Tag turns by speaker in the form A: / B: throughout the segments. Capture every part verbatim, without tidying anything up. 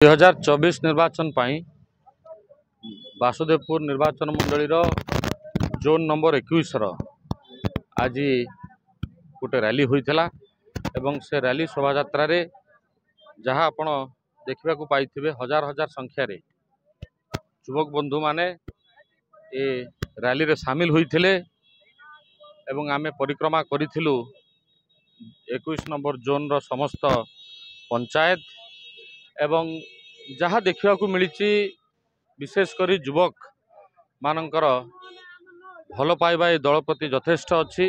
A: ଦୁଇ ହଜାର ଚବିଶ ନିର୍ବାଚନ ପାଇଁ ବାସୁଦେବପୁର ନିର୍ବାଚନ ମଣ୍ଡଳୀର ଜୋନ୍ ନମ୍ବର ଏକୋଇଶର ଆଜି ଗୋଟେ ରାଲି ହୋଇଥିଲା ଏବଂ ସେ ରାଲି ଶୋଭାଯାତ୍ରାରେ ଯାହା ଆପଣ ଦେଖିବାକୁ ପାଇଥିବେ, ହଜାର ହଜାର ସଂଖ୍ୟାରେ ଯୁବକ ବନ୍ଧୁମାନେ ଏ ରାଲିରେ ସାମିଲ ହୋଇଥିଲେ ଏବଂ ଆମେ ପରିକ୍ରମା କରିଥିଲୁ ଏକୋଇଶ ନମ୍ବର ଜୋନ୍ର ସମସ୍ତ ପଞ୍ଚାୟତ। ଏବଂ ଯାହା ଦେଖିବାକୁ ମିଳିଛି, ବିଶେଷ କରି ଯୁବକମାନଙ୍କର ଭଲ ପାଇବା ଏ ଦଳ ପ୍ରତି ଯଥେଷ୍ଟ ଅଛି।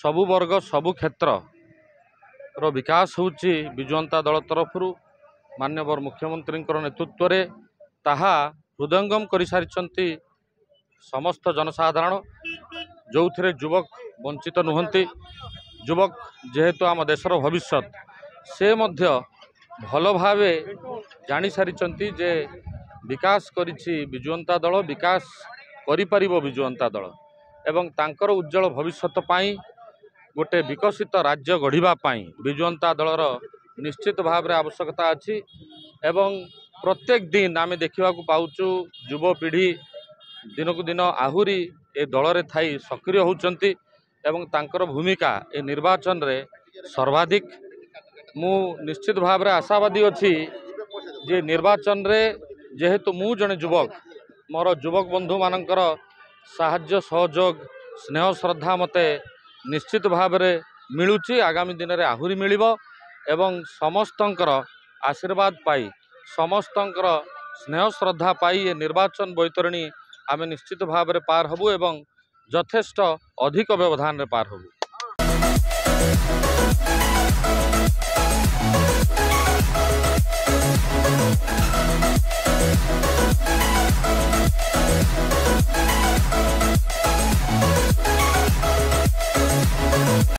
A: ସବୁ ବର୍ଗ, ସବୁ କ୍ଷେତ୍ରର ବିକାଶ ହେଉଛି ବିଜୁ ଜନତା ଦଳ ତରଫରୁ ମାନ୍ୟବର ମୁଖ୍ୟମନ୍ତ୍ରୀଙ୍କର ନେତୃତ୍ୱରେ, ତାହା ହୃଦୟଙ୍ଗମ କରିସାରିଛନ୍ତି ସମସ୍ତ ଜନସାଧାରଣ, ଯେଉଁଥିରେ ଯୁବକ ବଞ୍ଚିତ ନୁହନ୍ତି। ଯୁବକ ଯେହେତୁ ଆମ ଦେଶର ଭବିଷ୍ୟତ, ସେ ମଧ୍ୟ ଭଲ ଭାବେ ଜାଣିସାରିଛନ୍ତି ଯେ ବିକାଶ କରିଛି ବିଜୁ ଜନତା ଦଳ, ବିକାଶ କରିପାରିବ ବିଜୁ ଜନତା ଦଳ ଏବଂ ତାଙ୍କର ଉଜ୍ଜଳ ଭବିଷ୍ୟତ ପାଇଁ, ଗୋଟେ ବିକଶିତ ରାଜ୍ୟ ଗଢ଼ିବା ପାଇଁ ବିଜୁ ଜନତା ଦଳର ନିଶ୍ଚିତ ଭାବରେ ଆବଶ୍ୟକତା ଅଛି। ଏବଂ ପ୍ରତ୍ୟେକ ଦିନ ଆମେ ଦେଖିବାକୁ ପାଉଛୁ, ଯୁବପିଢ଼ି ଦିନକୁ ଦିନ ଆହୁରି ଏ ଦଳରେ ଥାଇ ସକ୍ରିୟ ହେଉଛନ୍ତି ଏବଂ ତାଙ୍କର ଭୂମିକା ଏ ନିର୍ବାଚନରେ ସର୍ବାଧିକ। ମୁଁ ନିଶ୍ଚିତ ଭାବରେ ଆଶାବାଦୀ ଅଛି ଯେ ନିର୍ବାଚନରେ ଯେହେତୁ ମୁଁ ଜଣେ ଯୁବକ, ମୋର ଯୁବକ ବନ୍ଧୁମାନଙ୍କର ସାହାଯ୍ୟ, ସହଯୋଗ, ସ୍ନେହ, ଶ୍ରଦ୍ଧା ମୋତେ ନିଶ୍ଚିତ ଭାବରେ ମିଳୁଛି, ଆଗାମୀ ଦିନରେ ଆହୁରି ମିଳିବ ଏବଂ ସମସ୍ତଙ୍କର ଆଶୀର୍ବାଦ ପାଇ, ସମସ୍ତଙ୍କର ସ୍ନେହ ଶ୍ରଦ୍ଧା ପାଇ ଏ ନିର୍ବାଚନ ବୈତରଣୀ ଆମେ ନିଶ୍ଚିତ ଭାବରେ ପାର ହେବୁ ଏବଂ ଯଥେଷ୍ଟ ଅଧିକ ବ୍ୟବଧାନରେ ପାର ହେବୁ।